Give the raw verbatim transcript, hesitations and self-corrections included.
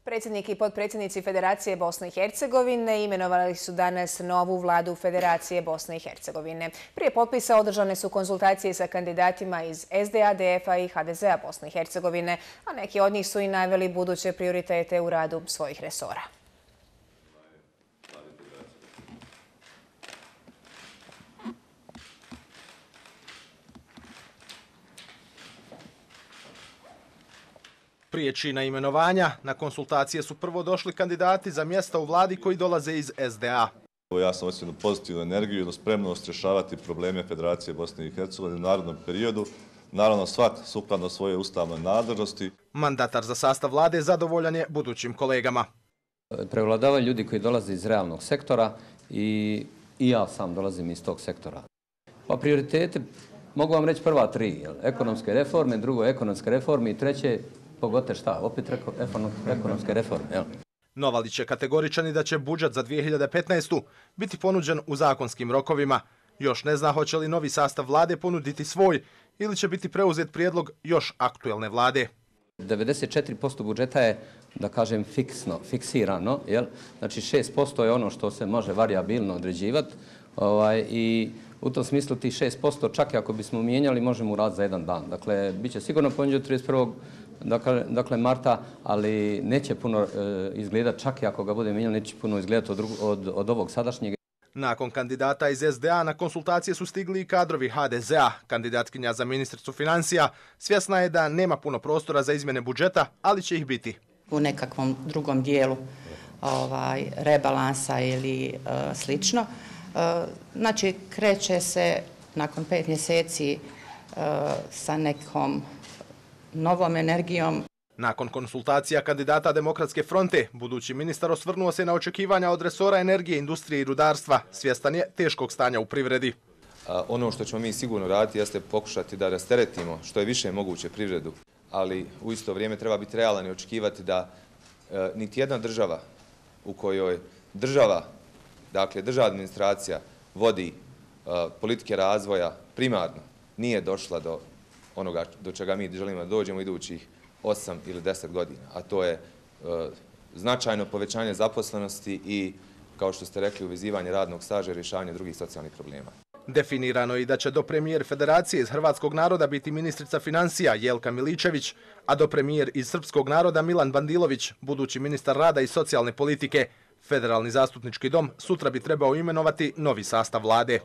Predsjednik i potpredsjednici Federacije Bosne i Hercegovine imenovali su danas novu vladu Federacije Bosne i Hercegovine. Prije potpisa održane su konzultacije sa kandidatima iz S D A, D F A i H D Z A Bosne i Hercegovine, a neki od njih su i naveli buduće prioritete u radu svojih resora. Prije čina imenovanja, na konsultacije su prvo došli kandidati za mjesta u vladi koji dolaze iz S D A. Ja sam osjetio pozitivnu energiju i spremnost rješavati probleme Federacije Bosne i Hercegovine u narednom periodu, naravno svak sukladno svoje ustavne nadležnosti. Mandatar za sastav vlade zadovoljan je budućim kolegama. Prevladavaju ljudi koji dolaze iz realnog sektora i, i ja sam dolazim iz tog sektora. Pa prioritete, mogu vam reći prva tri, jel? Ekonomske reforme, drugo ekonomske reforme i treće, pogotovo šta, opet ekonomske reforme. Jel? Novalić je kategoričan i da će budžet za dvije hiljade petnaestu. biti ponuđen u zakonskim rokovima. Još ne zna hoće li novi sastav vlade ponuditi svoj ili će biti preuzet prijedlog još aktuelne vlade. devedeset četiri posto budžeta je, da kažem, fiksno, fiksirano. Jel? Znači šest posto je ono što se može varijabilno određivati ovaj, i u tom smislu tih šest posto čak i ako bismo mijenjali možemo uraditi za jedan dan. Dakle, bit će sigurno ponuđeno trideset prvog Dakle, dakle marta, ali neće puno e, izgledati, čak i ako ga bude mijenjali, neće puno izgledati od, od, od ovog sadašnjeg. Nakon kandidata iz S D A na konsultacije su stigli i kadrovi H D Z A. Kandidatkinja za ministricu financija svjesna je da nema puno prostora za izmjene budžeta, ali će ih biti. U nekakvom drugom dijelu ovaj, rebalansa ili e, slično. E, znači, kreće se nakon pet mjeseci e, sa nekom novom energijom. Nakon konsultacija kandidata Demokratske fronte, budući ministar osvrnuo se na očekivanja od resora energije, industrije i rudarstva. Svjestan je teškog stanja u privredi. A ono što ćemo mi sigurno raditi jeste pokušati da rasteretimo što je više moguće privredu, ali u isto vrijeme treba biti realan i očekivati da e, niti jedna država u kojoj država, dakle državna administracija vodi e, politike razvoja primarno, nije došla do onoga do čega mi želimo da dođemo idućih osam ili deset godina, a to je e, značajno povećanje zaposlenosti i, kao što ste rekli, uvezivanje radnog staža i rješavanje drugih socijalnih problema. Definirano je i da će do premijer Federacije iz Hrvatskog naroda biti ministrica financija Jelka Miličević, a do premijer iz Srpskog naroda Milan Bandilović, budući ministar rada i socijalne politike. Federalni zastupnički dom sutra bi trebao imenovati novi sastav vlade.